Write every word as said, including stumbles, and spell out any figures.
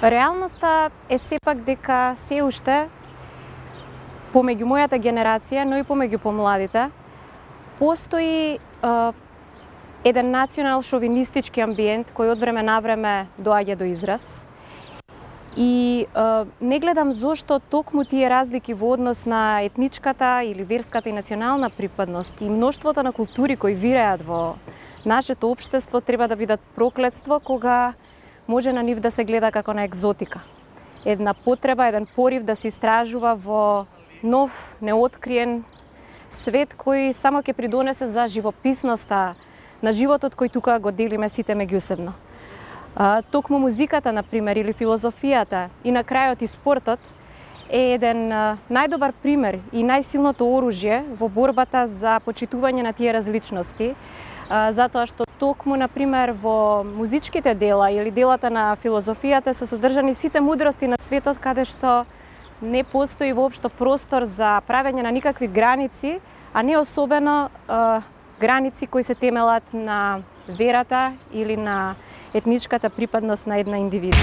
Реалноста е сепак дека се уште помеѓу мојата генерација, но и помеѓу помладите, постои е, еден национал шовинистички амбиент кој од време на време доаѓа до израз. И е, не гледам зошто токму тие разлики во однос на етничката или верската и национална припадност и мноштвото на култури кои виреат во нашето општество треба да бидат проклетство кога може на нив да се гледа како на екзотика. Една потреба, еден порив да се истражува во нов, неоткриен свет кој само ќе придонесе за живописноста на животот кој тука го делиме сите меѓусебно. Токму музиката, например, или филозофијата и на крајот и спортот е еден најдобар пример и најсилното оружје во борбата за почитување на тие различности, затоа што токму, например, во музичките дела или делата на филозофијата се содржани сите мудрости на светот, каде што не постои воопшто простор за правење на никакви граници, а не особено е, граници кои се темелат на верата или на етничката припадност на една индивида.